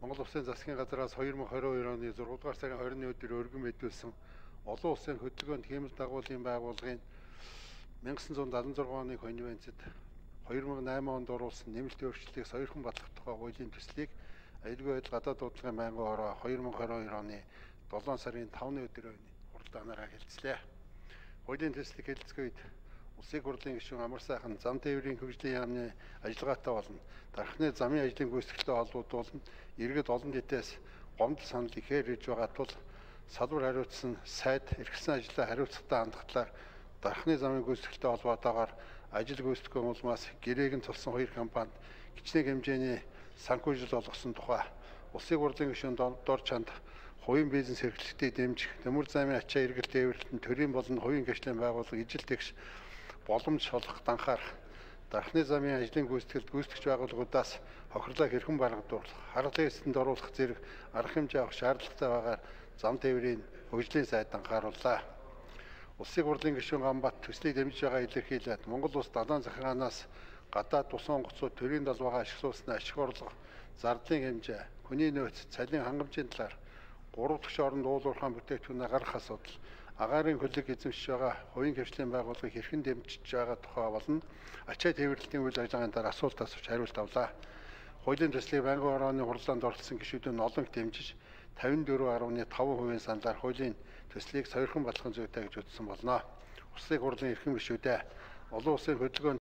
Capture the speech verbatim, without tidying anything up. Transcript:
Монгол Улсын засгийн газраас хоёр мың хорин хоёр оны зургаадугаар сарын хорины өдөр өргөн мэдүүлсэн олон улсын хөдөлгөөнд хиймэл дагуулын байгууллагын мянга девятьсот седьмидесяти шести оны конвенцэд хоёр мың найман онд оруулсан нэмэлт өөрчлөлтийг сойрхон батлах тухай хуулийн төслийг аюулгүй байдал гадаад дуудлагын байнгын ороо хоёр мың хорин хоёр оны долоон сарын тавны өдрөө хуралдаанаараа хэлцлээ. Хуулийн төслийг хэлцэх үед Улсын хурлын гишүүн Амар сайхан зам тээврийн хөгжлийн яамны ажиллагаатай болно. Дархны замын ажлын гүйцэтгэлтэй холбогдуулна. Иргэд олон нийтээс гомдол санал ихээр ирж байгаа тул салбар хариуцсан сайд эрхэлсэн ажлаа хариуцлагатай хандхлаар дархны замын гүйцэтгэлтэй холбоотойгоор ажил гүйцэтгэх улмаас гэрээг нь тулсан хоёр компанид хичнээн хэмжээний санхүүжил олгосон тухай Улсын хурлын гишүүн Дор Чанд хувийн бизнес эрхлэлтийг дэмжих, төмөр замын ачаа эргэлт тээвэрлэлтэн төрийн болон хувийн гэрчлийн байгууллага ижил тэгш боломж олох данхаар дархны замын ажлын гүйцэтгэлд гүйцэтгэгч байгууллагуудаас хохирлоо хэрхэн баргадуулах, харгалзан эсэнд оруулах зэрэг арга хэмжээ авах шаардлагатай байгаар зам тээврийн хөгжлийн сайд анхаарууллаа. Улсын хурлын гишүүн Гамбат төслийг дэмжиж байгаа илэрхийлээд Монгол улс далайн захиргаанаас гадаад тусан онгоцууд төрийн далбаагаа ашиглуулсны ашиг орлого, зардлын хэмжээ, хүний нөөц, цалин хангамжийн талаар гурав дахь оронд уулуурхаан бүтээгдэхүүнээ гаргах асуудал, агаарын хөлөг эзэмшиж байгаа хувийн хвшлийн байгууллагыг хэрхэн дэмжиж байгаа тухай болон ачаа тээвэрлэлийн үйл ажиллагааны дараа асуулт асууж хариулт авлаа. Хуулийн төслийг байнгын орооны хурлаанд оролцсон гишүүдийн олон дэмжиж тавин дөрвөн гаруй таван хувийн саналаар хуулийн төслийг сойрхон батлахын зүйтэй гэж үзсэн болно. Улсын хурлын эрхэм гишүүдээ олон улсын хөдөлгөөнд